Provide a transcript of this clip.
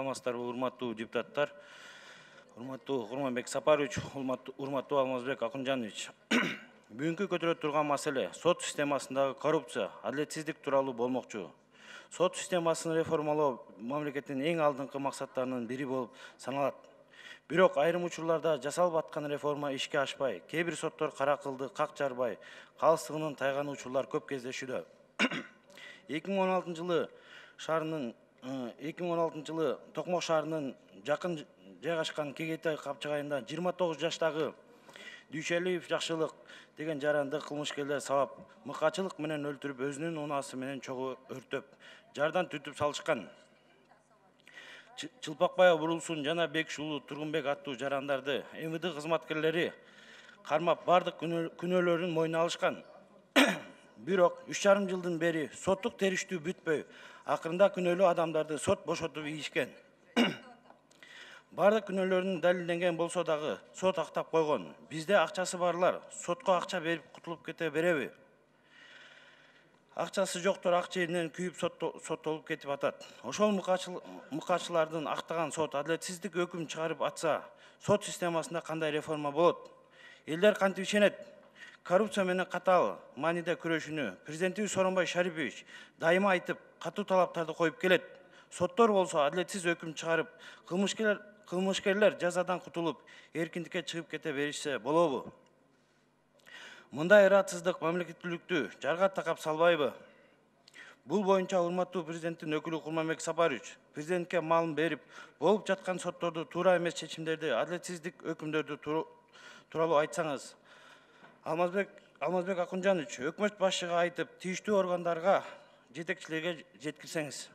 саламатсыздарбы, урматтуу депутаттар, урматтуу Курманбек Сапарович, урматтуу Алмазбек Акунжанович. Бүгүнкү көтөрүлүп турган маселе сот системасындагы коррупция, адилетсиздик тууралуу болмокчу. Сот системасын реформалоо мамлекеттин эң алдыңкы максаттарынын бири болуп саналат. Бирок айрым учурларда жасалып аткан реформа ишке ашпай, кээ бир соттор кара кылды, как жарбай, калыстыгынын тайган учурлар көп кездешүүдө. 2016 жылы Токмок шаарынын жакын жайгашкан Кегейтай капчыгайында 29 жаштагы Дүйшөлиев Жакшылык деген жаранды кылмышкерлер сабап, мыкачылык менен өлтүрүп, өзүнүн унаасы менен чогуу өртөп, жардан түтүп салышкан. Чылпакбаев Бурулсун жана Бекшулуу Тургунбек аттуу жарандарды МВД кызматкерлери кармап, бардык күнөөлөрүн мойнуна алышкан. Бирок 3,5 жылдан бери соттук териштүү бүтпөй, акырында күнөөлүү адамдарды сот бошотуп ийишкен. Бардык күнөөлөрүн далилденген болсо дагы сот актап койгон. Бизде акчасы барлар сотко акча берип кутулуп кете береби? Акчасы жоктор ак жеринен күйүп соттолуп кетип атат. Ошол мыкачылардын актаган сот адилетсиздик өкүм чыгарып атса, сот системасында кандай реформа болот? Элдер кантип ишенет? Коррупция менен катаал мааниде күрөшүүнү президентибиз Сооронбай Шарипович дайыма айтып, катуу талаптарды коюп келет. Соттор болсо адилетсиз өкүм чыгарып, кылмышкерлер жазадан кутулуп, эркиндикке чыгып кете беришсе болобу? Мындай ыраатсыздык мамлекеттүүлүктү жарга такап салбайбы? Бул боюнча урматтуу президенттин өкүлү Курманбек Сапарович президентке маалым берип, болуп жаткан сотторду туура эмес чечимдерди, адилетсиздик өкүмдөрдү тууралуу айтсаңыз. Алмазбек Акунжанович, өкмөт башчыга айтып, тийиштүү органдарга, жетекчилерге жеткирсеңиз.